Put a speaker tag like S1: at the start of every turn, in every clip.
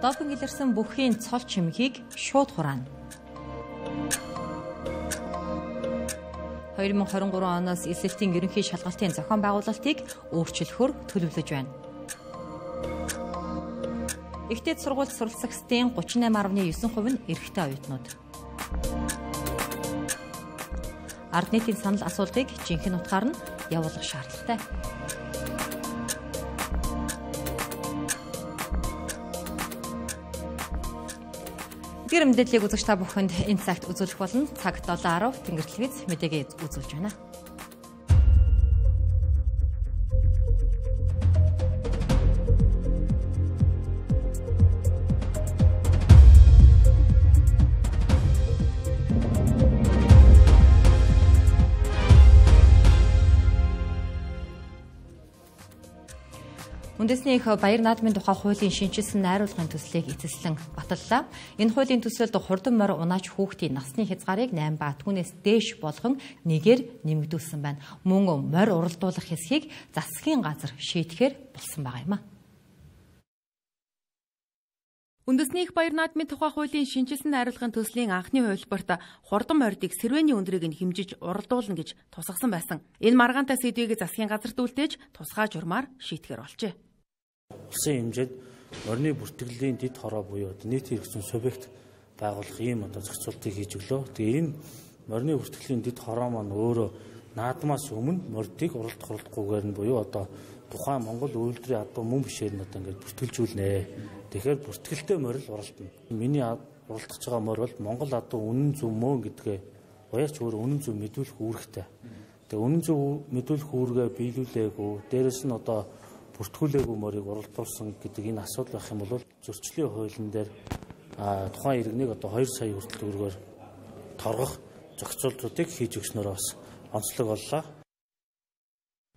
S1: Допинг илэрсэн бүхий цол чимэгийг шууд хураана. 2023 оноос эсэлтийн ерөнхий шалгалтын зохион байгуулалтыг өөрчлөхөөр төлөвлөж байна. Ихтэйд сургуульд суралцагчдын 38.9% нь эрэгтэй оюутнууд. Ард нийтийн санал асуултыг жинхэнэ утгаар нь явуулах шаардлагатай. Гэр мэдээллийг үзэгч та бүхэнд энэ цагт үзүүлэх болно. Цаг 7:10 Тэнгэр телевиз мэдээгээ үзүүлж байна. Үндэсний их баяр наадмын тухай хуулийн шинжилсэн найруулгын төслийг эцэслэн баталлаа. Энэ хуулийн төсөлд хурдан морь унаач хүүхдийн насны хязгаарыг 8 ба түүнээс дээш болгон нэгээр нэмэгдүүлсэн байна. Мөн морь уралдуулах хэсгийг засгийн газар шийдэхээр болсон байгаа юм а. Үндэсний их баяр наадмын тухай хуулийн шинжилсэн найруулгын төслийн анхны хувилбарт хурдан морьдыг сэрвээний өндрийг нь хэмжиж уралдуулна гэж тусгасан байсан. Энэ маргаантай сэдвийг засгийн газарт үлдээж тусгай журмаар шийтгэр болжээ.
S2: Улсын хэмжээнд морины бүртгэлийн дэд хороо буюу нийт хэрэгцээ субъект байгуулах ийм зохицуултыг хийж өглөө. Тэгээ энэ морины бүртгэлийн дэд хороо маань өөрөө наадмаас өмнө морьдыг уралдахгүйгээр нь буюу тухайн Монгол үйлдвэрийн албан мөн бишээр нь ингээд бүртгэлжүүлнэ. Тэгэхээр бүртгэлтэй морь л уралдана. Миний уралдах байгаа морь бол Монгол үнэн зөв мөн гэдгээ уярч өөр үнэн зөв мэдүүлэх үүрэгтэй. Тэгээ үнэн зөв мэдүүлэх үүргээ биелүүлээгүй. Дээрээс нь бүртгүүлээгүй морийг уралдуулсан гэдэг энэ асуудал байх юм бол зөрчлийн хуулийн дээр тухайн иргэнийг 2 сая хүртэл төгрөгөөр торгох зохицуултуудыг хийж өгснөөр бас онцлог боллоо.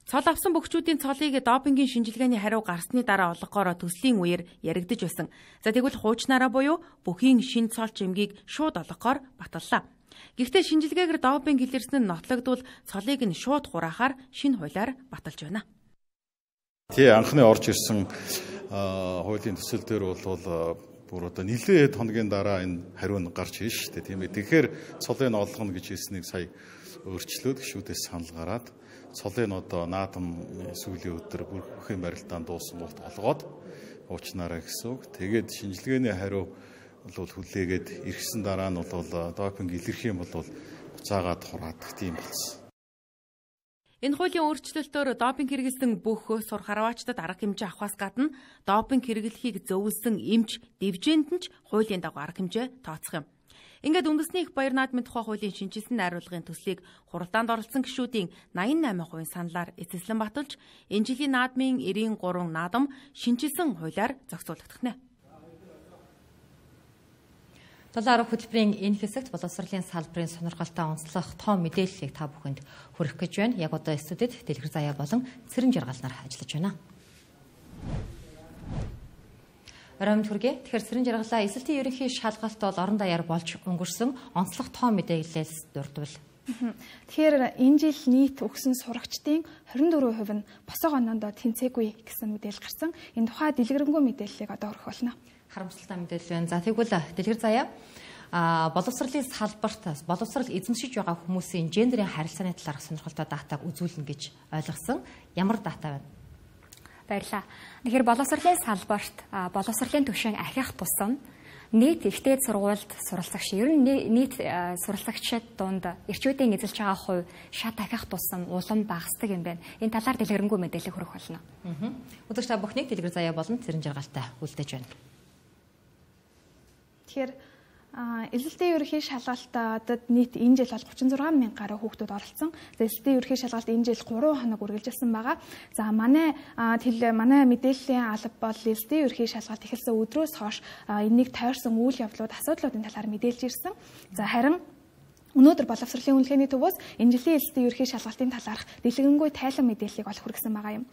S2: Цол авсан бөхчүүдийн цолыг допингийн шинжилгээний хариу гарсны дараа олгохоор төслийн үеэр яригдж байсан. За тэгвэл хуучнаараа буюу бүхийн шин цол чимгийг шууд олгохоор баталлаа. Гэхдээ шинжилгээгээр допинг илэрсэн нь нотлогдвол цолыг нь шууд хураахаар шинэ хуулиар баталж байна.
S3: Анхны орж ирсэн хуулийн төсөл дээр бол бүр нэлээд хоногийн дараа энэ хариу нь гарч ирж штэ тийм ээ. Тэгэхээр цолыг олгоно гэж хэлснийг сая өөрчлөөд гишүүдээс санал гараад цолыг наадам сүүлийн өдөр бүхэн барилдаанд дуусан болт олгоод уучнаараа гэсэн үг. Тэгээд шинжилгээний хариу бол хүлээгээд ирсэн дараа нь бол допинг илэрх юм бол буцаагаад хураадаг тийм болсон. Энэ хуулийн өөрчлөлтөөр допинг хэрэглэсэн бүх сур харваачдад арга хэмжээ авахаас гадна допинг хэрэглэхийг зөвлөсөн эмч дивжээнд нь ч хуулийн дагуу арга хэмжээ тооцох юм. Ингээд үндэсний их баяр наадмын тухай хуулийн шинжилсэн найруулгын төслийг хуралдаанд оролцсон гишүүдийн 88% саналаар эцэслэн баталж, энэ жилийн наадмын 93 наадам шинжилсэн хуулиар зохицуулагдах нэ. 7-10 хөтөлбөрийн энэ хэсэгт боловсролын салбарын сонирхолтой онцлог том мэдээллийг та бүхэнд хүргэх гэж байна. Яг одоо студид Дэлгэр Заяа болон Цэрэн Жаргал нар ажиллаж байна. Оройн түргээ. Тэгэхээр Цэрэн Жаргалаа эсэлтийн ерөнхий шалгалт бол орон даяар болж өнгөрсөн онцлог том мэдээллээс дурдвал.
S4: Тэгэхээр энэ жил нийт өгсөн сурагчдын 24% нь босоо оноонд тэнцээгүй гэсэн мэдээлэл гарсан. Энэ тухай дэлгэрэнгүй мэдээллийг одоо өргөх болно.
S1: Харамсалтай мэдээлэл байна. За тэгвэл Дэлгэр Заяа боловсролын салбарт боловсрол эзэмшиж байгаа хүмүүсийн гендерийн харилцааны талаарх сонирхолтой датаг үзүүлнэ гэж ойлгосон. Ямар дата байна?
S5: Баярлалаа. Тэгэхээр боловсролын салбарт боловсролын түвшин ахих тусам нийт ихтэйд сургуульд суралцагч ер нь нийт суралцагчид дунд эрчүүдийн эзэлж байгаа хувь шат ахих тусам улам багасдаг юм байна. Энэ талаар дэлгэрэнгүй мэдээлэл хүргэх болно.
S1: Өдөрт та бүхнийг Дэлгэр Заяа болон Цэрэн Жаргалтай үлдээж байна.
S4: Тэгэхээр эсэлтийн ерөнхий шалгалтад нийт энэ жил бол 36,000 гаруй хүүхдүүд оролцсон. Эсэлтийн ерөнхий шалгалт энэ жил 3 хоног үргэлжилсэн байгаа. За манай мэдээллийн алба бол эсэлтийн ерөнхий шалгалт эхэлсэн өдрөөс хойш энийг тойрсон үйл явдлууд, асуудлуудын талаар мэдээлж ирсэн. За харин өнөөдөр боловсролын үнэлгээний төвөөс энэ жилийн эсэлтийн ерөнхий шалгалтын талаарх дэлгэрэнгүй тайлан мэдээллийг олох хүргэсэн байгаа юм.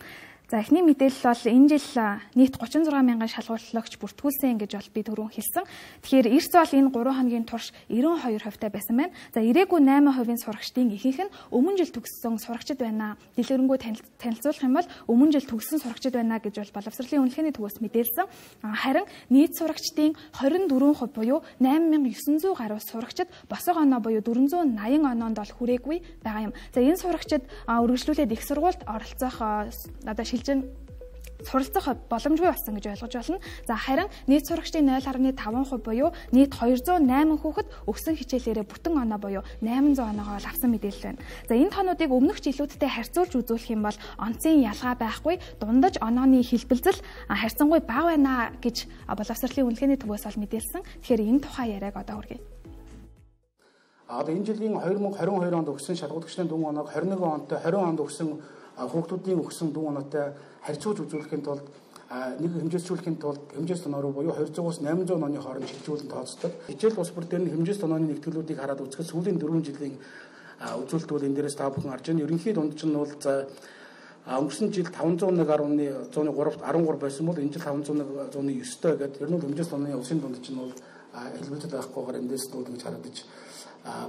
S4: За эхний мэдээлэл бол энэ жил нийт 36 мянган шалгуулагч бүртгүүлсэн гэж бол би түрүүн хэлсэн. Тэгэхээр эрс бол энэ 3 хоногийн турш 92% байсан байна. За ирээгүй 8% сурагчдын ихэнх нь өмнө жил төгссөн сурагчид байна. Дэлгэрэнгүй танилцуулах юм бол өмнө жил төгссөн сурагчид байна гэж бол боловсролын үнэлгээний төвөөс мэдээлсэн. Харин нийт сурагчдын 24% буюу 8900 гаруй сурагчид босоо оноо буюу 480 оноонд бол хүрээгүй байгаа юм. За энэ сурагчид үргэлжлүүлээд их сургуульд оролцох одоо шилжин суралцах боломжгүй болсон гэж ойлгож байна. За харин нийт сурагчдын 0.5% буюу нийт 208 хүүхэд өгсөн хичээлээрээ бүтэн оноо буюу 800 оноогоо авсан мэдээлэл байна. За энэ тоонуудыг өмнөх жилүүдтэй харьцуулж үзүүлэх юм бол онцгийн ялгаа байхгүй, дундаж онооны хэлбэлзэл харьцангуй бага байна гэж боловсролын үнэлгээний төвөөс бол мэдээлсэн. Тэгэхээр энэ тухай яриаг одоо хүргэе.
S6: Одоо энэ жилийн 2022 онд өгсөн шалгуулагчдын дүн оноог 21 онтой 20 онд өгсөн хүүхдүүдийн өгсөн дүн оноотой харьцуулж үзүүлэхийн тулд нэг хэмжээжүүлэхийн тулд хэмжээс тоноо руу буюу 200-аас 800 онооны хооронд шилжүүлэн тооцдог. Хичээл бус бүр дээр нь хэмжээс тонооны нэгтгэлүүдийг хараад үзэхэд сүүлийн 4 жилийн үзүүлэлт бол энэ дээрээс та бүхэн харж байна. Ерөнхий дунд нь бол өнгөрсөн жил 501.113 байсан бол энэ жил 501.9 гэдэг. Ер нь хэмжээс тонооны усын дунд нь бол хэлбэлцэл байхгүйгээр эндээс нүүд гэж харагдаж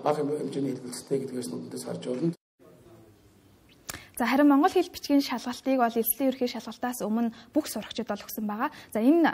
S6: бага хэмжээний хэлбэлцэлтэй гэдгээс нүдэндээс харж байна.
S4: За харин монгол хэл бичгийн шалгалтыг бол эзлэлийн ерхий шалгалтаас өмнө бүх сурагчид бол өгсөн байгаа. За энэ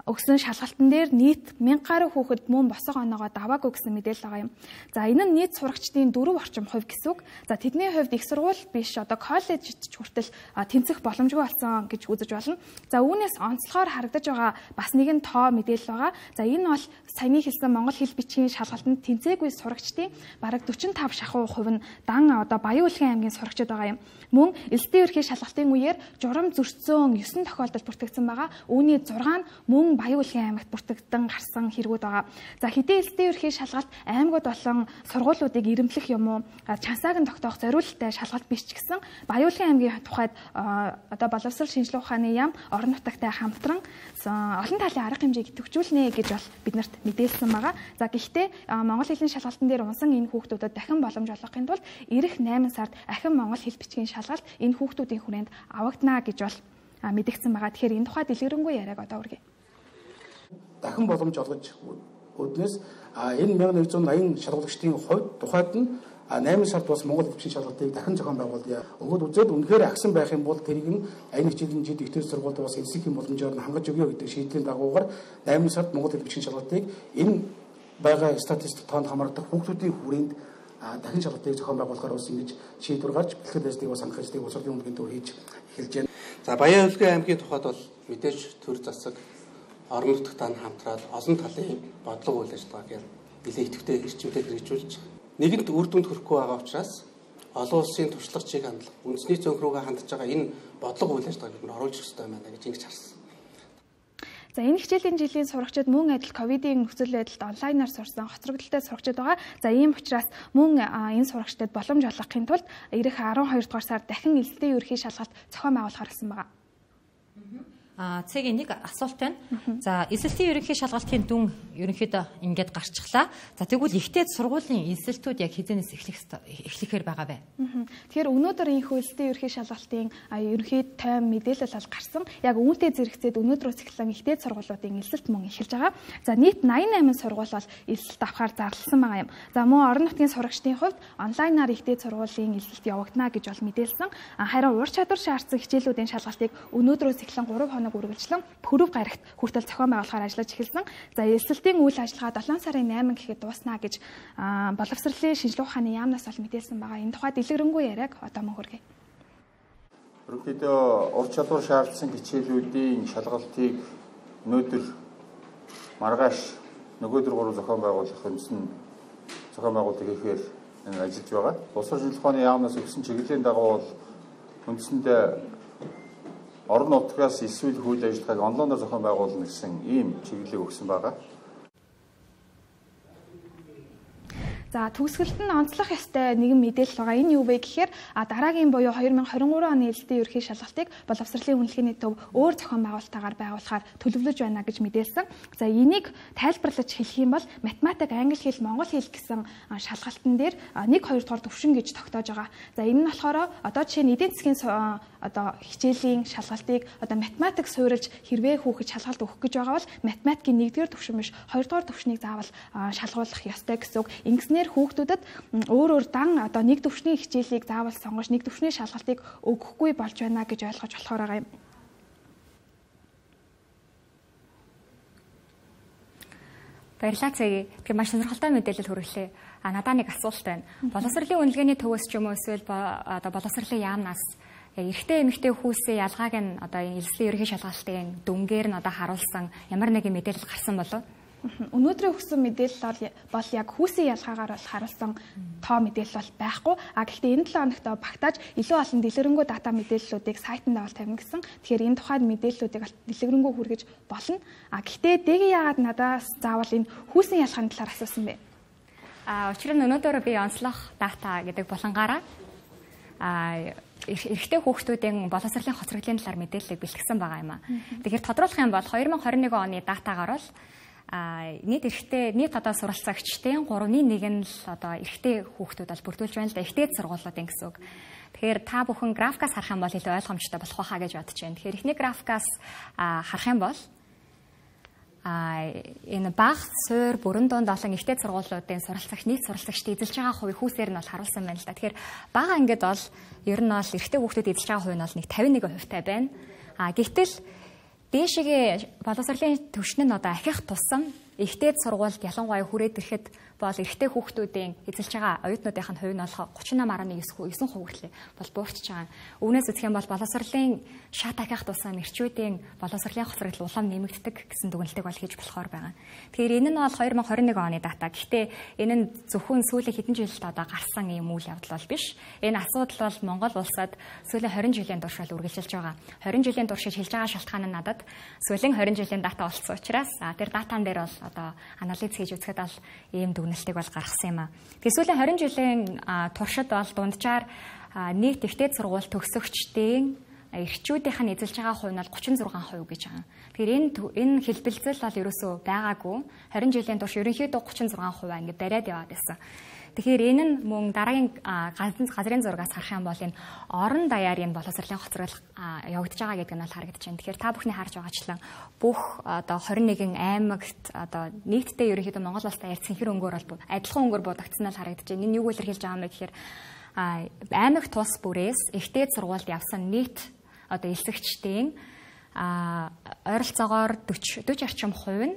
S4: өгсөн шалгалтан дээр нийт 1000 гаруй хүүхэд мөн босоо оноогоо даваагүй гэсэн мэдээлэл байгаа юм. За энэ нь нийт сурагчдын 4 орчим хувь гэсэн үг. За тэдний хувьд их сургууль биш одоо коллежид хүртэл тэнцэх боломжгүй болсон гэж үзэж болно. За үүнээс онцлогоор харагдаж байгаа бас нэгэн тоо мэдээлэл байгаа. За энэ бол саяны хэлсэн монгол хэл бичгийн шалгалтанд тэнцээгүй сурагчдын бараг 45% нь дан одоо Баян-Улгийн аймгийн сурагчид байгаа юм. Мөн эзлэлийн ерхий шалгалтын үеэр журам зөрчсөн 9 тохиолдол бүртгэгдсэн байгаа. Үүний 6 нь мөн Баян-Улгийн аймагт бүртгэгдэн гарсан хэрэгүүд байгаа. За хэдийн эзлэлийн ерхий шалгалт аймагуд болон сургуулиудыг ирэмблэх юм уу чансааг нь тогтоох зориулалттай шалгалт биш ч гэсэн Баян-Улгийн аймгийн тухайд одоо боловсрол шинжилгээ ухааны яам орон нутагтай хамтран олон талын арга хэмжээг идэвхжүүлнэ гэж бол биднэрт мэдээлсэн байгаа. За гэхдээ монгол хэлний шалгалтын дээр унсан энэ хүүхдүүдэд дахин боломж олгохын тулд ирэх 8 сард ахин монгол хэл бичгийн шалгалт энэ хүүхдүүдийн хүрээнд авагдана гэж бол мэдэгдсэн байгаа. Тэгэхээр энэ тухай дэлгэрэнгүй яриаг одоо үргэлж
S6: дахин боломж олгож өднөөс энэ 1180 шалгуулагчдын хувьд тухайд нь 8 сард бас монгол бичгийн шалгалтыг дахин зохион байгуулъя. Өгөөд үзээд үнэхээр агсан байх юм бол тэрийг нь аяны хичээлийн жид ихтэй сургуульд бас эзлэх юм боломжоор нь хангаж өгье гэдэг шийдлийн дагуугаар 8 сард монгол бичгийн шалгалтыг энэ байгаа статистик тоонд хамаардаг хүүхдүүдийн хүрээнд дахин шалгалтыг зохион байгуулахаар бас ингэж шийдвэр гарч бэлтгэл дэстийг бас хангалтыг боловсролын үнэлгээний төр хийж эхэлж байна.
S7: За Баян-Улгийн аймгийн тухайд бол мэдээж төр засаг орон нутагтаа хамтраад олон талын бодлого үйл ажиллагааг нэлээд идэвхтэй эрчимтэй хэрэгжүүлж нэгэнт үр дүнд хүрэхгүй байгаа учраас олон улсын туршлагачийг хандлах үндэсний цонх руугаа хандж байгаа энэ бодлого үйл ажиллагааг нь оруулах хэрэгтэй байна гэж ингэж харсан.
S4: За энэ хичээлийн жилийн сурагчид мөн адил ковидын нөхцөл байдалд онлайнаар сурсан хоцрогдолтой сурагчид байгаа. За ийм учраас мөн энэ сурагчдад боломж олгохын тулд ирэх 12 дугаар сард дахин эзлэлийн ерхий шалгалт зохион байгуулахар гэсэн байгаа.
S1: Цэгийн нэг асуулт байна. За эзэлтийн ерөнхий шалгалтын дүн ерөнхийдөө ингээд гарчихлаа. За тэгвэл ихтэй сургуулийн эзэлтүүд яг хэзээс эхлэхээр байгаа вэ?
S4: Тэгэхээр өнөөдөр энэ эзэлтийн ерөнхий шалгалтын ерөнхий тайм мэдээлэл бол гарсан. Яг үүнтэй зэрэгцээд өнөөдрөөс эхлэн ихтэй сургуулиудын эзэлт мөн эхэлж байгаа. За нийт 88 сургууль бол эзэлт авахар зарласан байгаа юм. За мөн орон нутгийн сурагчдын хувьд онлайнаар ихтэй сургуулийн эзэлт явагдана гэж бол мэдээлсэн. Харин ур чадвар шаардсан хичээлүүдийн шалгалтыг өнөөдрөөс эхлэн 3 хоног үргэлжлэн Пүрэв гарагт хүртэл зохион байгуулахаар ажиллаж эхэлсэн. За эзэлтийн үйл ажиллагаа 7 сарын 8 гэхэд дуусна гэж боловсролын шинжилгээ ухааны яамнаас бол мэдээлсэн байгаа. Энэ тухай дэлгэрэнгүй яриаг одоо мөн хүргэе.
S8: Ерөнхийдөө ур чадвар шаардсан хичээлүүдийн шалгалтыг өнөөдөр маргааш нөгөөдөр 3 зохион байгуулах юмсан зохион байгуулалт хийхээр ажиллаж байгаа. Боловсрол шинжилгээ ухааны яамнаас өгсөн чиглэлийн дагуу бол үндсэндээ орон нутгаас эсвэл хууль ажиллагааг онлайнаар зохион байгуулна гэсэн ийм чиглэлийг өгсөн байгаа.
S4: За төгсгөлд нь онцлох ёстой нэгэн мэдээлэл байгаа. Энэ юу вэ гэхээр дараагийн буюу 2023 оны эзэлтийн ерөнхий шалгалтыг боловсролын үнэлгээний төв өөр зохион байгуулалтаагаар байгуулахаар төлөвлөж байна гэж мэдээлсэн. За энийг тайлбарлаж хэлэх юм бол математик, англи хэл, монгол хэл гэсэн шалгалтын дээр 1-2 дугаар төвшин гэж тогтоож байгаа. За энэ нь болохоор одоо жишээ нь эдийн засгийн хичээлийн шалгалтыг математик суурилж хэрвээ хүүхэд шалгалт өгөх гэж байгаа бол математикийн 1-р төвшин биш 2-р төвшнийг заавал шалгуулах ёстой гэсэн үг. Ингэснээр хүүхдүүдэд өөр дан нэг төвшний хичээлийг заавал сонгож нэг төвшний шалгалтыг өгөхгүй болж байна гэж ойлгож болохоор байгаа юм.
S5: Баярлалаа цэгээ. Тэгэхээр маш сонирхолтой мэдээлэл хүргэлээ. Надаа нэг асуулт байна. Боловсролын үнэлгээний төвөөс ч юм уу эсвэл боловсролын яамнаас эрэгтэй эмэгтэй хүүсийн ялгааг нь энэ эзэлтийн ерөнхий шалгалтын дүнгээр нь харуулсан ямар нэгэн мэдээлэл гарсан болов?
S4: Өнөөдрийн өгсөн мэдээлэл бол яг хүүсийн ялгаагаар бол харуулсан тоо мэдээлэл бол байхгүй. Гэхдээ энэ 7 хоногт багтааж илүү олон дэлгэрэнгүй дата мэдээллүүдийг сайтанд авал тавина гэсэн. Тэгэхээр энэ тухайд мэдээллүүдийг дэлгэрэнгүй хүргэж болно. Гэхдээ дэгийн яагаад надаас заавал энэ хүүсийн ялгааны талаар асуусан бэ?
S5: Учир нь өнөөдөр би онцлох дата гэдэг булангаараа эрэгтэй хүүхдүүдийн боловсролын хоцроглын талаар мэдээллийг бэлтгэсэн байгаа юм аа. Тэгэхээр тодруулах юм бол 2021 оны датагаар бол нийт суралцагчдын 3/1 нь л эрэгтэй хүүхдүүд бол бүрдүүлж байна л да. Эрэгтэй сургуулиудын гэсэн үг. Тэгэхээр та бүхэн графикаас харах юм бол илүү ойлгомжтой болох байхаа гэж бодож байна. Тэгэхээр эхний графикаас харах юм бол энэ баг суур бүрэн дунд олон эрэгтэй сургуулиудын суралцагч нийт суралцагчдын эзэлж байгаа хувийг хүүсээр нь бол харуулсан байна л да. Тэгэхээр бага ангид бол ер нь бол эрэгтэй хүүхдүүд эзэлж байгаа хувь нь бол нэг 51% байна. Гэвтэл дээшгээ боловсролын түвшин нь ахих тусам эрэгтэй сургуульд ялангуяа хүрээд ирэхэд бол эрэгтэй хүүхдүүдийн эзэлж байгаа оюутнуудын хувь нь бол 38.9% хүртлээ бол буурч байгаа. Үүнээс үзэх юм бол боловсролын шат ахих тусам эрчүүдийн боловсролын хоцрогдол улам нэмэгддэг гэсэн дүгнэлтийг бол хийж болохоор байгаа. Тэгэхээр энэ нь бол 2021 оны дата. Гэхдээ энэ нь зөвхөн сүүлийн хэдэн жилд гарсан юм үйл явдал бол биш. Энэ асуудал бол Монгол улсад сүүлийн 20 жилийн турш үргэлжилж байгаа. 20 жилийн турш хэлж байгаа шалтгаан нь надад сүүлийн 20 жилийн дата болсон учраас тэр датан дээр бол анализ хийж үзэхэд бол ийм дүгнэлтийг бол гаргасан юм аа. Тэгээ сүүлийн 20 жилийн туршид бол дунджаар нийт эрэгтэй сургууль төгсөгчдийн эрчүүдийнх нь эзэлж байгаа хувь нь бол 36% гэж байгаа. Тэгэхээр энэ хэлбэлзэл бол ерөөсөө байгаагүй. 20 жилийн турш ерөнхийдөө 36% ингэ бариад яваад байсан. Тэгэхээр энэ нь мөн дараагийн газрын зургаас харах юм бол энэ орон даяар энэ боловсролын хоцрол явагдаж байгаа гэдэг нь бол харагдаж байна. Тэгэхээр та бүхний харж байгаачлан бүх 21 аймагт нийтдээ ерөнхийдөө Монгол улстай ярьсан хэр өнгөөр бол адилхан өнгөөр будагдсан нь харагдаж байна. Энэ юу илэрхийлж байгаа юм бэ гэхээр аймаг тус бүрээс эрэгтэй сургуульд явсан нийт элсэгчдийн ойролцоогоор 40 орчим хувь нь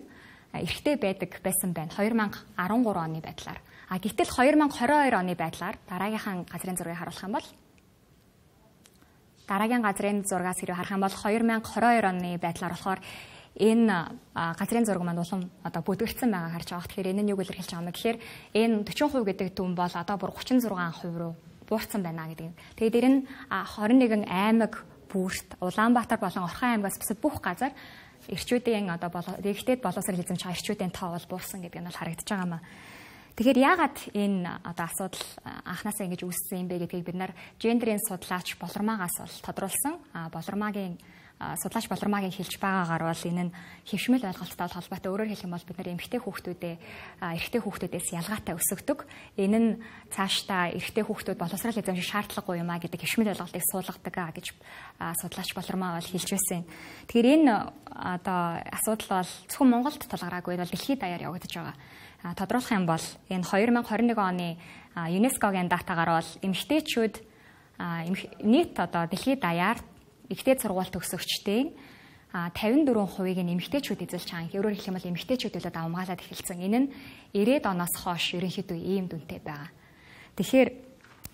S5: эрэгтэй байдаг байсан байна 2013 оны байдлаар. Гэтэл 2022 оны байдлаар дараагийнхаа газрын зургийг харуулах юм бол дараагийн газрын зургаас хэрэг харах юм бол 2022 оны байдлаар болохоор энэ газрын зураг маань улам бүдгэрсэн байгаа харж байгаа. Тэгэхээр энэ нь юу илэрхийлж байгаа юм гэхээр энэ 40% гэдэг түн бол бүр 36% руу буурсан байна гэдэг. Тэгээд энэ нь 21 аймаг бүрт Улаанбаатар болон Орхон аймгаас бусад бүх газар эрчүүдийн эрэгтэй боловсрол эзэмж байгаа эрчүүдийн тоо бол буурсан гэдэг нь бол харагдаж байгаа юм аа. Тэгэхээр яагаад энэ асуудал анхнаасаа ингэж үүссэн юм бэ гэдгийг бид нар гендерийн судлаач Болормаагаас бол тодруулсан. Судлаач Болормаагийн хэлж байгаагаар бол энэ нь хэвшмэл ойлголттой холбоотой. Өөрөөр хэлэх юм бол бид нар эрэгтэй хүүхдүүдээс ялгаатай өсөгдөг. Энэ нь цаашдаа эрэгтэй хүүхдүүд боловсрол эзэмших шаардлагагүй юм а гэдэг хэвшмэл ойлголтыг суулгадаг гэж судлаач Болормаа бол хэлж байсан. Тэгэхээр энэ асуудал бол зөвхөн Монголд тулгараагүй бол дэлхийд даяар явагдаж байгаа. Тодруулах юм бол энэ 2021 оны ЮНЕСКОгийн датагаар бол эмэгтэйчүүд нийт дэлхийд даяар эрэгтэй сургууль төгсөгчдийн 54%-ийг эмэгтэйчүүд эзэлж байгаа. Өөрөөр хэлэх юм бол эмэгтэйчүүдээ давмгаалаад эхэлсэн. Энэ нь 90-ад оноос хойш ерөнхийдөө ийм дүнтэй байгаа. Тэгэхээр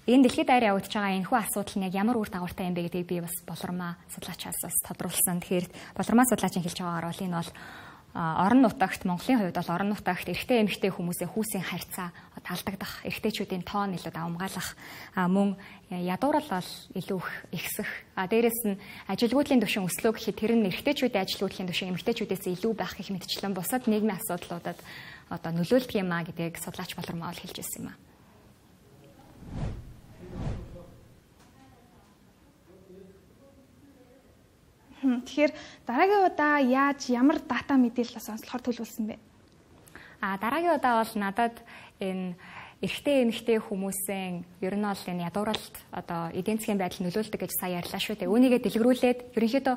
S5: энэ дэлхийд даяар явагдаж байгаа энэхүү асуудал нь яг ямар үр дагавартай юм бэ гэдгийг би бас Болормаа судлаачаас бас тодруулсан. Тэгэхээр Болормаа судлаачийн хэлж байгаагаар бол энэ бол орон нутагт Монголын хувьд бол орон нутагт эрэгтэй эмэгтэй хүмүүсийн хүүсийн харьцаа талдагдах, эрэгтэйчүүдийн тоон илүү давмгаалах, мөн ядуурал бол илүү ихсэх. Дээрээс нь ажилгүйдлийн түвшин өслөө гэхэд тэр нь эрэгтэйчүүдийн ажилгүйдлийн түвшин эмэгтэйчүүдээс илүү байх гэх мэтчлэн бусад нийгмийн асуудлуудад одоо нөлөөлдөг юм а гэдгийг судлаач Болормоо хэлж ирсэн юм а.
S4: Тэгэхээр дараагийн удаа ямар дата мэдээлэл сонслохоор төлөвлөсөн бэ?
S5: Дараагийн удаа бол надад энэ эрэгтэй эмэгтэй хүмүүсийн ер нь бол энэ ядууралд одоо эдийн засгийн байдал нөлөөлдөг гэж сая ярьлаа шүү дээ. Үүнийгээ дэлгэрүүлээд ерөнхийдөө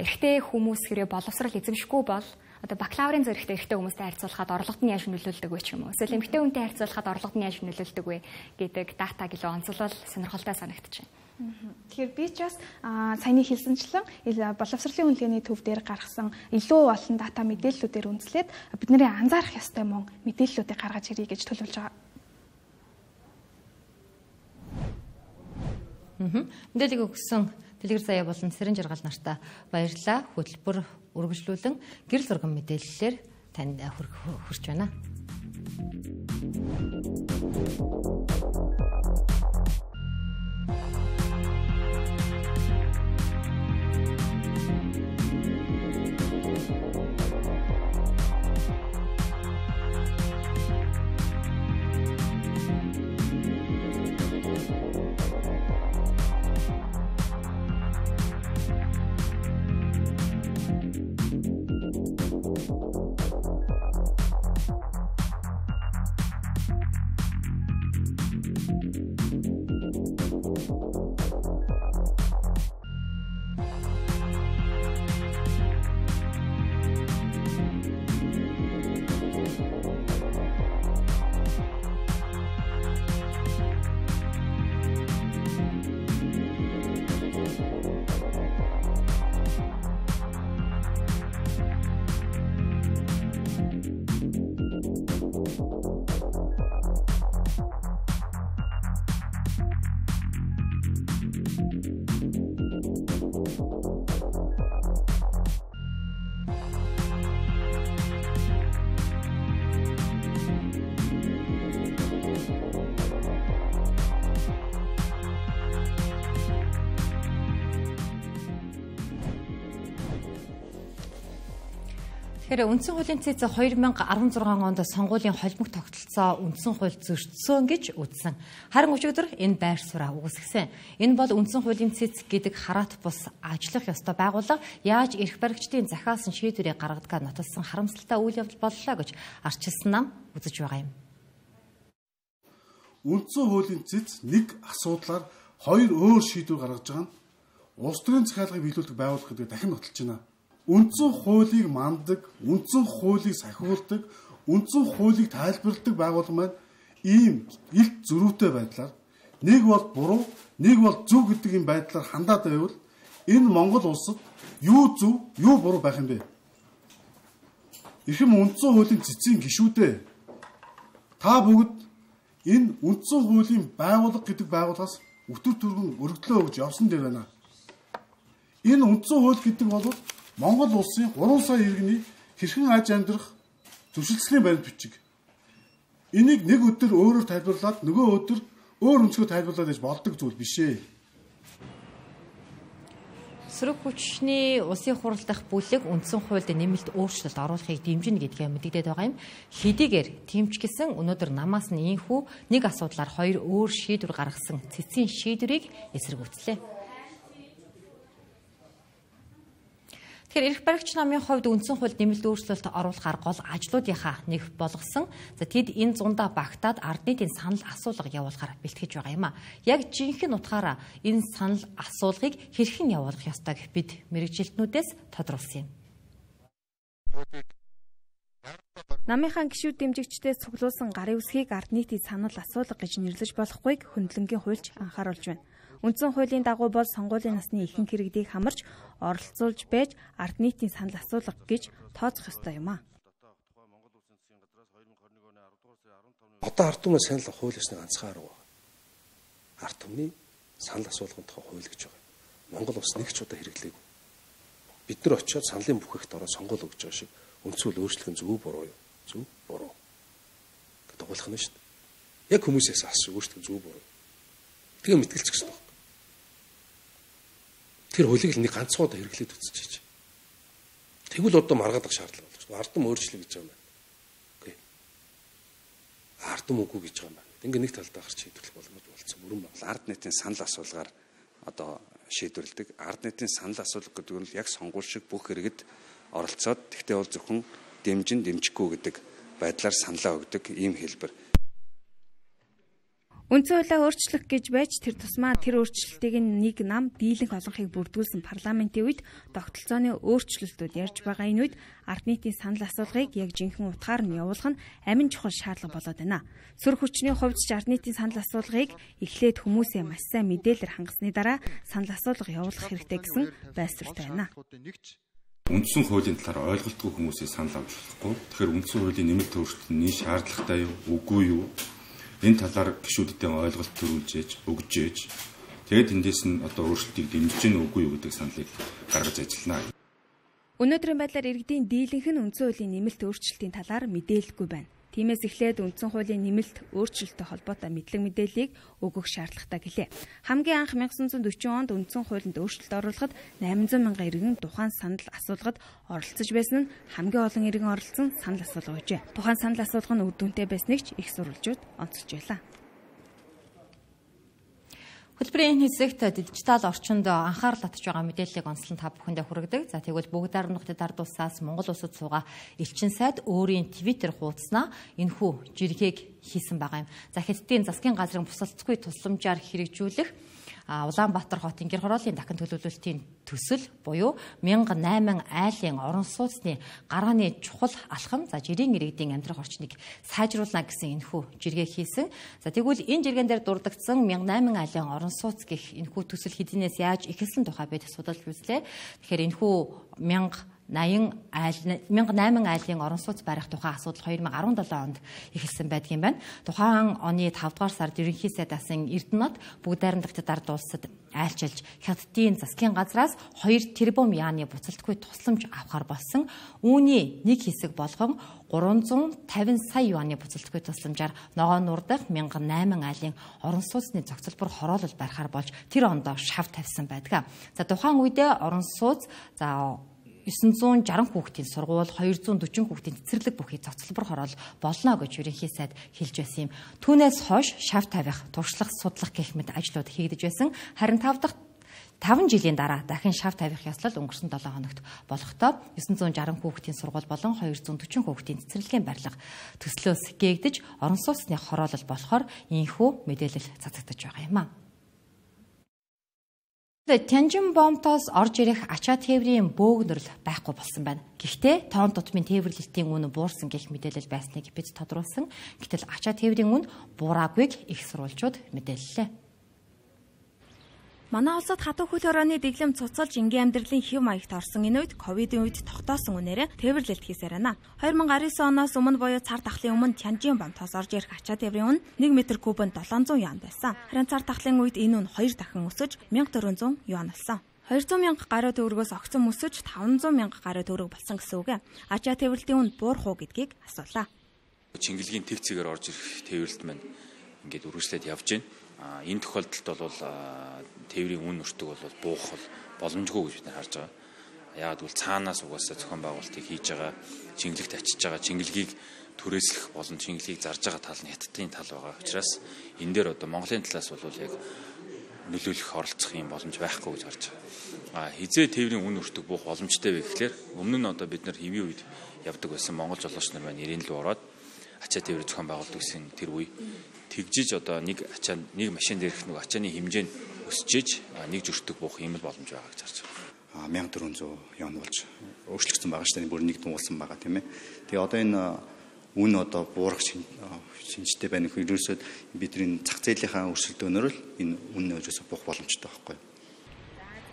S5: эрэгтэй хүмүүс хэрэг боловсрал эзэмшихгүй бол одоо бакалаврын зэрэгтэй эрэгтэй хүмүүстэй харьцуулахад орлогод нь яаж нөлөөлдөг вэ ч юм уу? Эсвэл эмэгтэй хүнтэй харьцуулахад орлогод нь яаж нөлөөлдөг вэ гэдэг датаг илүү онцлол сонирхолтой санагдчихэв.
S4: Тэгэхээр би ч бас саяны хэлсэнчлэн боловсролын үнэлгээний төв дээр гаргасан илүү олон дата мэдээллүүдээр үндэслээд бидний анзаарах ёстой мөн мэдээллүүдийг гаргаж ирье гэж төлөвлөж байгаа.
S1: Мэдээллийг өгсөн Дэлгэр Сая болон Сэрэн Жаргал нартаа баярлалаа. Хөтөлбөр үргэлжлүүлэн гэрэл зурган мэдээллээр танд хүрч байна. Тэгэхээр үндсэн хуулийн цэц 2016 онд сонгуулийн холбог тогтолцоо үндсэн хууль зөрчсөн гэж үзсэн. Харин өчигдөр энэ байр сураа үүсгэсэн. Энэ бол үндсэн хуулийн цэц гэдэг хараат бус ажиллах ёстой байгууллага яаж эрх баригчдын захиалсан шийдвэрийг гаргадгаа нотолсон харамсалтай үйл явдал боллоо гэж арчилсан нам үзэж байгаа юм.
S9: Үндсэн хуулийн цэц нэг асуудлаар хоёр өөр шийдвэр гаргаж байгаа нь улс төрийн захиалгыг биелүүлдэг байгууллага гэдэг дахин нотолж байна. Үндсэн хуулийг мандаг, үндсэн хуулийг сахиулдаг, үндсэн хуулийг тайлбарладаг байгууллага маань ийм илт зөрүүтэй байдлаар нэг бол буруу, нэг бол зөв гэдэг юм байдлаар хандаад байвал энэ Монгол улсад юу зөв, юу буруу байх юм бэ? Ихэм үндсэн хуулийн цэцгийн гишүүдээ та бүгд энэ үндсэн хуулийн байгууллага гэдэг байгууллагаас өтөр түргэн өргөдлөө өгж явсан дээр байна. Энэ үндсэн хууль гэдэг бол Монгол улсын 3 сая иргэний хэрхэн аж амьдрах зөвшөлтсөлийн баримт бичиг. Энийг нэг өдөр өөрөөр тайлбарлаад нөгөө өдөр өөр өнцгөө тайлбарлаад гэж болдог зүйл биш ээ.
S1: Сөрөг хүчний улсын хурал дахь бүлэг үндсэн хуульд нэмэлт өөрчлөлт оруулахыг дэмжинэ гэдгээ мэдэгдээд байгаа юм. Хэдийгээр тэмч гисэн өнөөдөр намаас нь ийхүү нэг асуудлаар хоёр өөр шийдвэр гаргасан цэцгийн шийдвэрийг эсэргүүцлээ. Тэгэхээр эрх баригч намын хувьд үндсэн хуульд нэмэлт өөрчлөлт оруулахаар гол ажлуудынхаа нэг болгосон. Тэд энэ зундаа багтаад ард нийтийн санал асуулга явуулахаар бэлтгэж байгаа юм а. Яг жинхэнэ утгаараа энэ санал асуулгыг хэрхэн явуулах ёстойг бид мэргэжилтнүүдээс тодруулсан юм.
S10: Намынхаа гишүүд дэмжигчдээс цуглуулсан гарын үсгийг ард нийтийн санал асуулга гэж нэрлэж болохгүйг хөндлөнгийн хуульч анхааруулж байна. Үндсэн хуулийн дагуу бол сонгуулийн насны ихэнх иргэдийг хамарч оролцуулж байж ард нийтийн санал асуулга гэж тооцох ёстой юм а.
S11: Одоо ард түмний санал хууль ёсны ганцхан арга байна. Ард түмний санал асуулгын тухай хууль гэж байгаа. Монгол улс нэг ч удаа хэрэглээгүй. Бид нар очиод саналын бүхэхт ороод сонгуул өгч байгаа шиг үндсүүл өөрчлөх нь зөв буруу юу? Зөв буруу. Гэдэг гуйлах нь шүү дээ. Яг хүмүүсээс асууж өөртөө зөв буруу. Тэгээ мэтгэлцэх хэрэгтэй байна. Тэр хуулийг л нэг ганцхан удаа хэрэглээд үзчихэж. Тэгвэл одоо маргаадах шаардлага болж байна. Ардам өөрчлөе гэж байгаа юм байна. Окей. Ардам үгүй гэж байгаа юм байна. Ингээ нэг талдаа гарч шийдвэрлэх боломж болсон бүрэн байна.
S12: Ард нийтийн санал асуулгаар одоо шийдвэрлэдэг. Ард нийтийн санал асуулга гэдэг нь яг сонгуул шиг бүх иргэд оролцоод тэгтээ бол зөвхөн дэмжихгүй гэдэг байдлаар саналаа өгдөг ийм хэлбэр.
S10: Үндсэн хуулиа өөрчлөх гэж байж тэр тусмаа тэр өөрчлөлтийг нэг нам дийлэнх олонхыг бүрдүүлсэн парламентын үед тогтолцооны өөрчлөлтүүд ярьж байгаа энэ үед ард нийтийн санал асуулгыг яг жинхэнэ утгаар нь явуулах нь амин чухал шаардлага болоод байна. Сөрөг хүчний хувьд ч ард нийтийн санал асуулгыг эхлээд хүмүүсээ маш сайн мэдээлэлээр хангасны дараа санал асуулга явуулах хэрэгтэй гэсэн байсвартай байна.
S13: Үндсэн хуулийн талаар ойлголтгүй хүмүүсээ санал авч болохгүй. Тэгэхээр үндсэн хуулийн нэмэлт өөрчлөлтний шаардлагатай юу, үгүй юу? Энэ талаар гишүүдтэй ойлголт төрүүлж өгж ээж тэгээд эндээс нь одоо өөрчлөлтийг дэмжиж гэнэ үгүй юу гэдэг саналыг гаргаж ажиллана.
S10: Өнөөдрийн байдлаар иргэдийн дийлэнх нь үндсэн хуулийн нэмэлт өөрчлөлтийн талаар мэдээлэлгүй байна. Тиймээс эхлээд үндсэн хуулийн нэмэлт өөрчлөлттэй холбоотой мэдлэг мэдээллийг өгөх шаардлагатай гэлээ. Хамгийн анх 1940 онд үндсэн хуулинд өөрчлөлт оруулахад 800 мянган иргэн тухайн санал асуулгад оролцож байсан нь хамгийн олон иргэн оролцсон санал асуулга байжээ. Тухайн санал асуулга нь үр дүнтэй байсныг ч их сурвалжууд онцолж байлаа.
S1: Хөтөлбөрийн хэсэгт дижитал орчинд анхаарал татж байгаа мэдээллийг онцлон та бүхэндээ хүргэдэг. За тэгвэл бүгд ард ард улсаас Монгол улсад суугаа элчин сайд өөрийн Twitter хуудаснаа энэхүү жиргээг хийсэн байгаа юм. За Хятадын засгийн газрын бусалцгүй тусламжаар хэрэгжүүлэх Улаанбаатар хотын гэр хорооллын дахин төлөвлөлтийн төсөл буюу 1008 айлын орон сууцны гарааны чухал алхам за жирийн иргэдийн амьдрах орчныг сайжруулна гэсэн энэхүү жиргээ хийсэн. За тэгвэл энэ жиргэн дээр дурддагдсан 1008 айлын орон сууц гэх энэхүү төсөл хэдийнээс яаж эхэлсэн тухай бид судалж үзлээ. Тэгэхээр энэхүү 1008 айлын орон сууц барих тухай асуудал 2017 онд эхэлсэн байдаг юм байна. Тухайн оны 5 дугаар сард ерөнхий сайд асан Эрдэнэт бүгд найрамдагчид ард улсад айлчилж Хятадын засгийн газраас 2 тэрбум яаны буцалтгүй тусламж авахар болсон. Үүний нэг хэсэг болгон 350 сая юаны буцалтгүй тусламжаар ногоон нурдах 1008 айлын орон сууцны зохицолбор хороолол барихаар болж тэр ондоо шав тавьсан байдаг. За тухайн үедээ орон сууц 960 хүүхдийн сургууль, 240 хүүхдийн цэцэрлэг бүхий зохицолбор хороол болно гэж ерөнхий сайд хэлж байсан юм. Түүнээс хойш шав тавих, туршлах, судлах гэх мэт ажлууд хийгдэж байсан. Харин 5 жилийн дараа дахин шав тавих ёслол өнгөрсөн 7 хоногт болохдоо 960 хүүхдийн сургууль болон 240 хүүхдийн цэцэрлэгийн барилга төслөөс гээгдэж орон сууцны хороолол болохоор ийхүү мэдээлэл цацагдаж байгаа юм а. Тянжин бомтоос орж ирэх ачаа тээврийн бөөгнөрл байхгүй болсон байна. Гэхдээ тоон тутмын тээвэрлэлтийн үн буурсан гэх мэдээлэл байсныг бид тодруулсан. Гэтэл ачаа тээврийн үн буураагүйг их сурвалжууд мэдээллээ.
S10: Манай улсад хатуу хөл хорооны дэглэм цуцалж энгийн амьдралын хэв маягт орсон энэ үед ковидын үед тогтоосон үнээрээ тээвэрлэлт хийсээр байна. 2019 оноос өмнө буюу цар тахлын өмнө Тянжин бомтоос орж ирэх ачаа тээврийн үн 1 м кубанд 700 юан байсан. Харин цар тахлын үед энэ үн 2 дахин өсөж 1400 юан болсон. 200 мянга гаруй төгрөгөөс огцом өсөж 500 мянга гаруй төгрөг болсон гэсэн үг. Ачаа тээвэрлэлтийн үн буурах уу гэдгийг асуулаа.
S14: Чингэлгийн тэг цэгээр орж ирэх тээвэрлэлт маань ингээд үргэлжлээд явж байна. Энэ тохиолдолд бол тээврийн үн өртөг бол буух боломжгүй гэж бид харж байгаа. Яагаад гэвэл цаанаас угаасаа зохион байгуулалтыг хийж байгаа, чингэлэгт ачиж байгаа, чингэлгийг түрээслэх болон чингэлгийг зарж байгаа тал нь Хятадын тал байгаа учраас энэ дээр одоо Монголын талаас бол яг нөлөөлөх оролцох юм боломж байхгүй гэж харж байгаа. Хизээ тээврийн үн өртөг буух боломжтой вэ гэхлээр өмнө нь одоо бид нар хэвийн үед явдаг байсан монгол жолооч нар маань ирэн лөө ороод ачаа тээвэр зохион байгуулдаг гэсэн тэр үе тэгжиж одоо нэг машин дээрх нэг ачааны хэмжээ нь өсөж нэг жөртөг буух юм боломж байгаа гэж харж байгаа.
S12: 1400 яон болж өөрчлөгдсөн байгаа шүү дээ. Бүр нэг дуулсан байгаа тийм ээ. Тэгээ одоо энэ үн одоо буурах шинжтэй байна гэхээр ерөөсөө бидний зах зээлийнхаа өрсөлдөөнөөр л энэ үн ерөөсөө буух боломжтой байхгүй.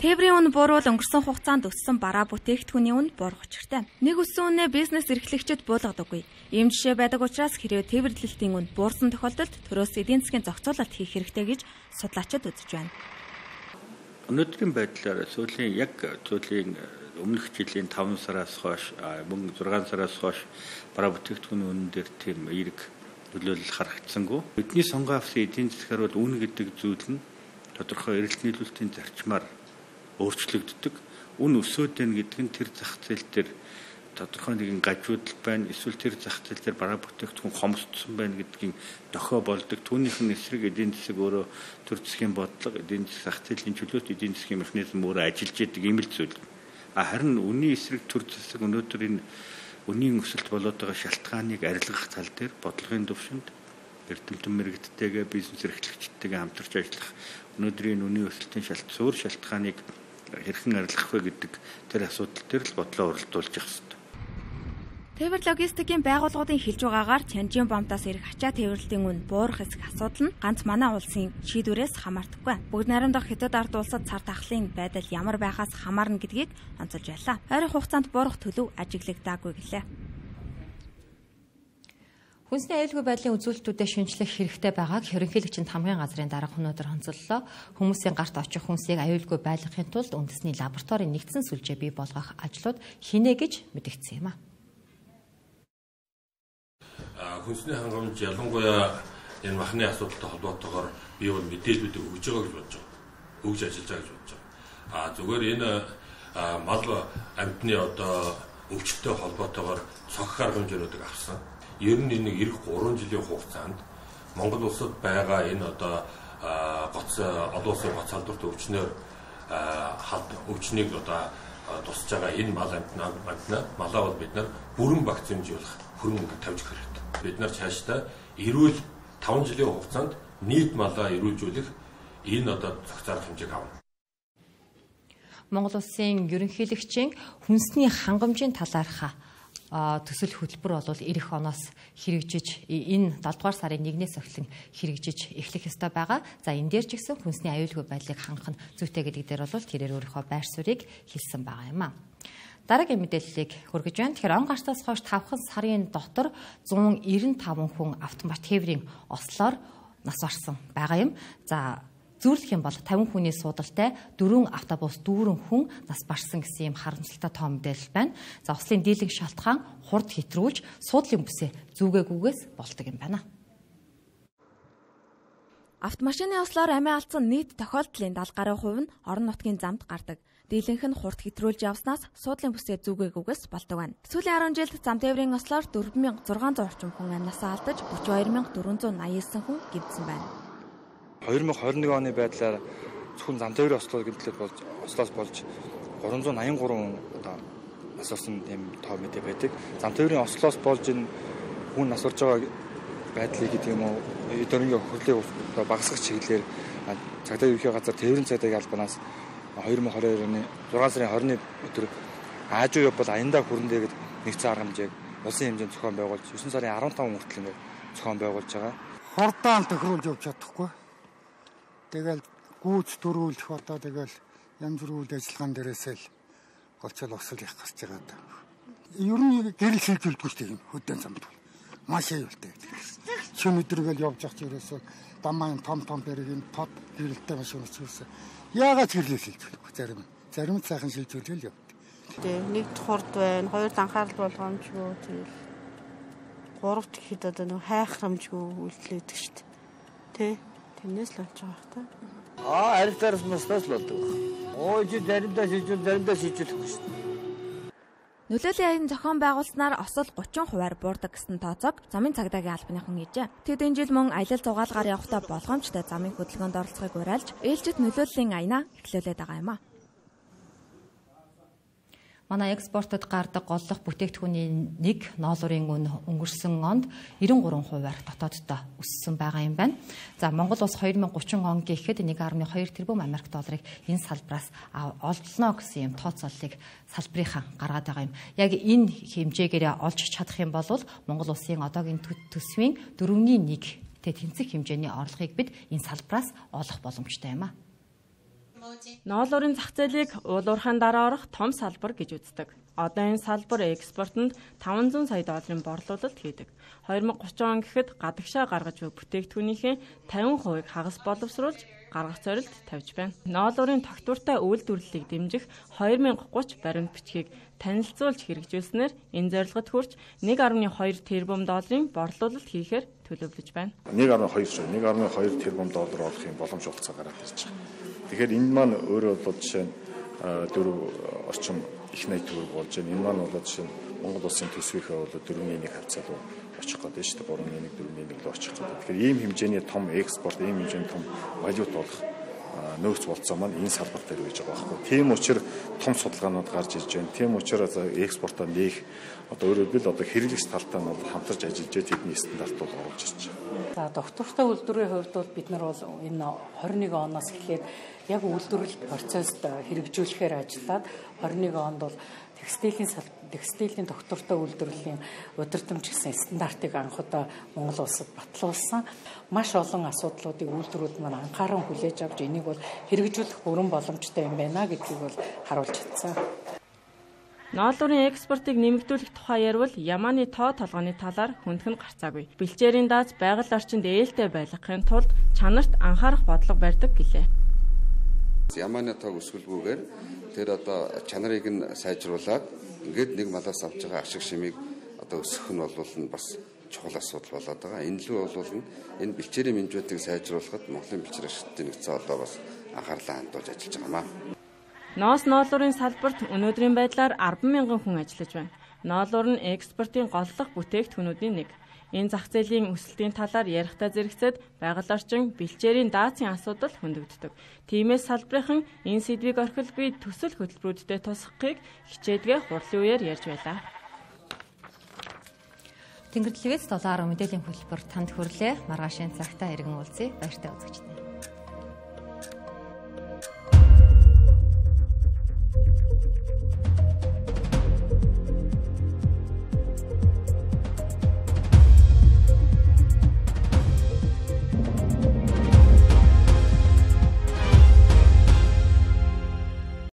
S10: Тээврийн үн буурвал өнгөрсөн хугацаанд өссөн бараа бүтээгдэхүүний үн буурах учиртай. Нэг өссөн үнэ бизнес эрхлэгчид буулгадаггүй. Ийм жишээ байдаг учраас хэрвээ тээвэрлэлтийн үн буурсан тохиолдолд төрөөс эдийн засгийн зохицуулалт хийх хэрэгтэй гэж судлаачид үзэж байна.
S15: Өнөөдрийн байдлаар сүүлийн өмнөх жилийн 5 сараас хойш мөн 6 сараас хойш бараа бүтээгдэхүүний үнэн дээр тийм эерэг нөлөөлөл харагдсангүй. Бидний сонгон авсан эдийн засгаар бол үн гэдэг зүйл нь тодорхой эрэлт нийлүүлэлтийн зарчмаар өөрчлөгддөг. Үн өсөөд байна гэдэг нь тэр зах зээл дээр тодорхой нэгэн гажуудал байна. Эсвэл тэр зах зээл дээр бараа бүтээгдэхүүн хомсдсон байна гэдгийн дохио болдог. Түүнийх нь эсрэг эдийн засаг өөрөө төр засгийн бодлого, эдийн засаг зах зээлийн чөлөөт эдийн засгийн механизм өөрөө ажиллаж яадаг ийм л зүйл. Харин үнийн эсрэг төр засаг өнөөдөр энэ үнийн өсөлт болоод байгаа шалтгааныг арилгах тал дээр бодлогын төвшөнд эрдэмтэн мэрэгдтэйгээ бизнес эрхлэгчдтэйгээ хамтарч ажиллах өнөөдрийн үнийн өсөлтийн шалтгааныг хэрхэн арилгах вэ гэдэг тэр асуудал дээр л бодлоо өрөлдүүлж явах хэрэгтэй.
S10: Тээвэр логистикийн байгууллагуудын хэлж байгаагаар Чанжин бомтоос ирэх ачаа тээвэрлэлийн үн буурах эсэх асуудал нь ганц манай улсын шийдвэрээс хамаардаггүй. Бүгд найрамдах хятад ард улсад цар тахлын байдал ямар байхаас хамаарна гэдгийг онцолж байлаа. Ойрын хугацаанд буурах төлөв ажиглагдаагүй гэлээ.
S1: Хүнсний аюулгүй байдлын үзүүлэлтүүдэд шинжлэх хэрэгтэй байгааг ерөнхийлөгчөнд хамгийн газрын дарга өнөөдөр онцоллоо. Хүмүүсийн гарт очих хүнсийг аюулгүй байлгахын тулд үндэсний лабораторийн нэгдсэн сүлжээ бий болгох ажлууд хийнэ гэж мэдэгдсэн юм а.
S13: Хүнсний хангамж ялангуяа энэ махны асуудалтай холбоотойгоор би бол мэдээллүүдийг өгж байгаа гэж бодож байгаа. Өгж ажиллаж байгаа гэж бодож байгаа. Зүгээр энэ мал амьтны одоо өвчтөй холбоотойгоор цогц арга хэмжээнүүдийг авсан. Ер нь нэг эх 3 жилийн хугацаанд Монгол улсад байгаа энэ одоо олон улсын гоц халдварт өвчнөөр өвчнийг одоо тусч байгаа энэ мал амьтнаа малаа бол бид нар бүрэн вакцинжуулах хөрөнгө тавьж өгөх хэрэгтэй. Бид нар цаашдаа эрүүл 5 жилийн хугацаанд нийт малаа эрүүлжүүлэх энэ одоо цогц арга хэмжээг авна.
S1: Монгол улсын ерөнхийлөгчийн хүнсний хангамжийн талаарх төсөл хөтөлбөр бол эх оноос хэрэгжиж энэ 7 дугаар сарын 1-ээс эхлэн хэрэгжиж эхлэх ёстой байгаа. За энэ дээр ч гэсэн хүнсний аюулгүй байдлыг хангах нь зүйтэй гэдэг дээр бол тэрээр өөрийнхөө байр суурийг хэлсэн байгаа юм а. Дараагийн мэдээллийг хүргэж байна. Тэгэхээр он гартаас хойш 5 сарын дотор 195 хүн автомат тээврийн ослоор нас барсан байгаа юм. За зүйрлэх юм бол 50 хүний суудалтай 4 автобус дүүрэн хүн нас барсан гэсэн юм харамсалтай тоо мэдээлэл байна. За ослын дийлэнх шалтгаан хурд хэтрүүлж суудлын бүсээ зүгээгүйгээс болдог юм байна.
S10: Автомашины ослоор амиа алдсан нийт тохиолдлын 70 гаруй хувь нь орон нутгийн замд гардаг. Дийлэнх нь хурд хэтрүүлж явснаас суудлын бүсээ зүгээгүйгээс болдог байна. Сүүлийн 10 жилд зам тээврийн ослоор 4600 орчим хүн амнасаа алдаж 32489 хүн гэмтсэн байна.
S16: 2021 оны байдлаар зөвхөн зам тээврийн ослоос болж 383 одоо нас орсон тийм тоо мэдээ байдаг. Зам тээврийн ослоос болж энэ хүн нас орж байгаа байдлыг гэдэг юм уу өдөрний хөрлөг багасгах чиглэлээр цагдаа ерөнхий газар тээврийн цагдаагийн албанаас 2022 оны 6 сарын 20-ны өдөр Аажуу бол аяндаа хүрэнтэй гэдэг нэгдсэн арга хэмжээг улсын хэмжээнд зохион байгуулж 9 сарын 15 хүртэл ингээд зохион байгуулж байгаа.
S17: Хордаан тохируулж явж чадахгүй. Тэгэл гүйц төрүүлэх одоо тэгэл янз бүр үйл ажиллагаан дээрээсээ л голцол осол их гарч байгаа. Ер нь гэрэл шилжүүлдэг шүү дээ хөдөө замд. Маш аюултай. Шөнө өдргээл явж явах ерөөсөө дамаан том бэргийн тод гэрэлтэй машин учраас яагаад гэрлээ шилжүүлэх зарим сайхан шилжүүлэл явд.
S18: Тэгээ нэгд хурд байна, хоёрд анхаарал болгоомжгүй тэгэл гуравт гэхэд одоо нэг хайхрамжгүй үйлдэлээдэг шүү дээ. Тэ тэрнээс л болж байгаа та.
S19: Арилтаарс мастаас л болдог. Чи заримдаа шилжүүлэхгүй шүү дээ.
S10: Нөлөөллийн аян зохион байгуулснаар осол 30% буурдаг гэсэн тооцоог замын цагдаагийн албаныхан хийжээ. Тэд энэ жил мөн аялал зугаалгаар явахдаа болгоомжтой замын хөдөлгөөнд оролцохыг уриалж, ээлжид нөлөөллийн аянаа эхлүүлээд байгаа юм а. Манай экспортод гардаг голлох бүтээгдэхүүний нэг ноолуурын үн өнгөрсөн онд 93%-аар дотооддоо өссөн байгаа юм байна. За Монгол улс 2030 он гэхэд 1.2 тэрбум Америк долларыг энэ салбараас олно гэсэн юм тооцооллыг салбарынхаа гаргаад байгаа юм. Яг энэ хэмжээгээр олж чадах юм бол Монгол улсын одоогийн төсвийн 4.1 тэнцэх хэмжээний орлогыг бид энэ салбараас олох боломжтой юм а.
S20: Ноолуурын зах зээлийг уулуурхаан дараа орох том салбар гэж үздэг. Одоо энэ салбар экспортод 500 сая долларын борлуулалт хийдэг. 2030 он гэхэд гадагшаа гаргаж буй бүтээгдэхүүнийхээ 50% хагас боловсруулж гаргах зорилт тавьж байна. Ноолуурын тогтвортой үйлдвэрлэлийг дэмжих 2030 баримт бичгийг танилцуулж хэрэгжүүлснээр энэ зорилгод хүрч 1.2 тэрбум долларын борлуулалт хийхээр төлөвлөж байна.
S21: 1.2 тэрбум доллар олохын боломж хугацаа гараад ирж байгаа. Тэгэхээр энэ маань өөрөө бол жишээ нь 4 орчим их найт төгрөг болж байна. Энэ маань бол жишээ нь Монгол улсын төсвийнхээ бол 4.1 хавцаа руу очих гэдэг шүү дээ. 3.1 4.1 рүү очих гэдэг. Тэгэхээр ийм хэмжээний том экспорт, ийм хэмжээний том валют болох нөөц болцоо маань энэ салбар дээр үеж байгаа байхгүй. Тийм учраас том судалгаанууд гарч ирж байна. Тийм учраас экспортоо нээх одоо өөрөөр хэлбэл одоо хэрэглэгч талтай нь хамтарч ажиллаж тэдний стандарт бол оруулж ирж байна.
S22: За доктортой үйлдвэрийн хувьд бол бид нар бол энэ 21 оноос эхлээд яг үйлдвэрлэл процесст хэрэгжүүлэхээр ажиллаад 21 онд бол текстилийн доктортой үйлдвэрлэлийн удирдамж гэсэн стандартыг анх удаа Монгол улсад батлуулсан. Маш олон асуудлуудыг үйлдвэрүүд маань анхааран хүлээж авч энийг бол хэрэгжүүлэх бүрэн боломжтой юм байна гэдгийг бол харуулж чадсан.
S20: Ноолуурын экспортыг нэмэгдүүлэх тухай ярил Яманы тоо толгойн талаар хүндхэн гарцаагүй. Бэлчээрийн дааз байгаль орчинд ээлтэй байлгахын тулд чанарт анхаарах бодлого барьдаг гэлээ.
S23: Яманы тоог өсгөлгүйгээр тэр одоо чанарыг нь сайжруулад ингээд нэг малаас авч байгаа ашиг шимийг одоо өсгөх нь бол бас чухал асуудал болоод байгаа. Энэ лүү бол энэ бэлчээрийн менежментийг сайжруулахад Монголын бэлчээр ашиглалтын нэгдсэн одоо бас анхаарлаа хандуулж ажиллаж байгаамаа.
S20: Ноолуурын салбарт өнөөдрийн байдлаар 10,000 хүн ажиллаж байна. Ноолуур нь экспортын голлох бүтээгдэхүүнүүдийн нэг. Энэ зах зээлийн өсөлтийн талаар ярихдаа зэрэгцээд байгаль орчин бэлчээрийн даацын асуудал хөндөгддөг. Тиймээс салбарынхан энэ сэдвийг орхилгүй төсөл хөтөлбөрүүдтэй тусгахыг хичээдгээ хурлын үеэр ярьж байлаа.
S1: Тэнгэрлэгээс 7 мэдээллийн хөтөлбөр танд хүрлээ. Маргаашийн цагтаа иргэн уулзъя. Баяртай үзэгчдээ.